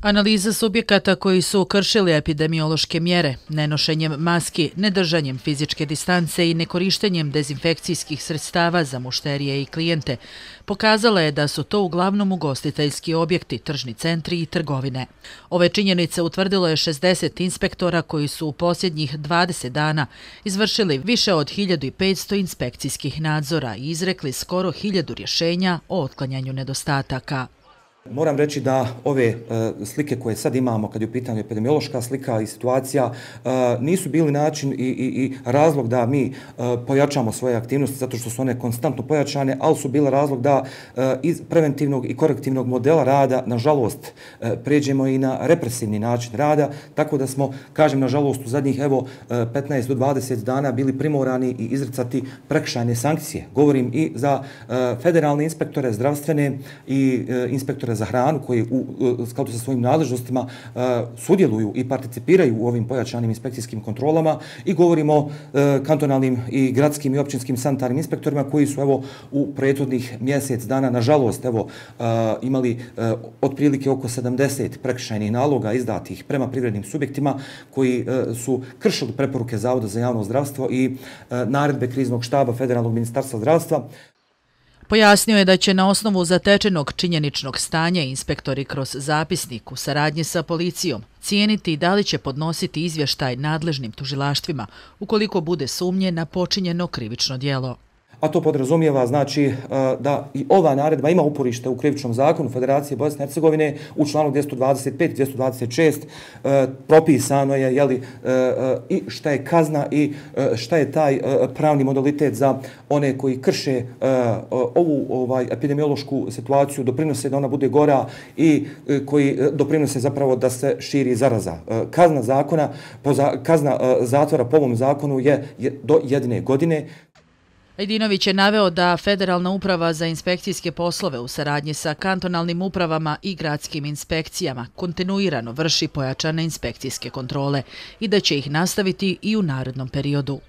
Analiza subjekata koji su kršili epidemiološke mjere, nenošenjem maski, nedržanjem fizičke distance i nekorištenjem dezinfekcijskih sredstava za mušterije i klijente pokazala je da su to uglavnom ugostiteljski objekti, tržni centri i trgovine. Ove činjenice utvrdilo je 60 inspektora koji su u posljednjih 20 dana izvršili više od 1500 inspekcijskih nadzora i izrekli skoro 1000 rješenja o otklanjanju nedostataka. Moram reći da ove slike koje sad imamo kad je u pitanju epidemiološka slika i situacija nisu bili način i razlog da mi pojačamo svoje aktivnosti zato što su one konstantno pojačane, ali su bile razlog da iz preventivnog i korektivnog modela rada, nažalost, pređemo i na represivni način rada, tako da smo, kažem, nažalost, u zadnjih 15 do 20 dana bili primorani i izricati prekršajne sankcije. Govorim i za federalne inspektore, zdravstvene i inspektore za hranu koji u skladu sa svojim nadležnostima sudjeluju i participiraju u ovim pojačanim inspekcijskim kontrolama i govorimo o kantonalnim i gradskim i općinskim sanitarnim inspektorima koji su u prethodnih mjesec dana nažalost imali otprilike oko 70 prekršajnih naloga izdatih prema privrednim subjektima koji su kršili preporuke Zavoda za javno zdravstvo i naredbe kriznog štaba Federalnog ministarstva zdravstva. Pojasnio je da će na osnovu zatečenog činjeničnog stanja inspektori kroz zapisnik u saradnji sa policijom cijeniti da li će podnositi izvještaj nadležnim tužilaštvima ukoliko bude sumnje na počinjeno krivično djelo. A to podrazumijeva znači da i ova naredba ima uporište u krivičnom zakonu Federacije Bosne i Hercegovine u članu 225 i 226 propisano je i šta je kazna i šta je taj pravni modalitet za one koji krše ovu epidemiološku situaciju, doprinose da ona bude gora i koji doprinose zapravo da se širi zaraza. Kazna zatvora po ovom zakonu je do 1 godine. Ajdinović je naveo da Federalna uprava za inspekcijske poslove u saradnji sa kantonalnim upravama i gradskim inspekcijama kontinuirano vrši pojačane inspekcijske kontrole i da će ih nastaviti i u narednom periodu.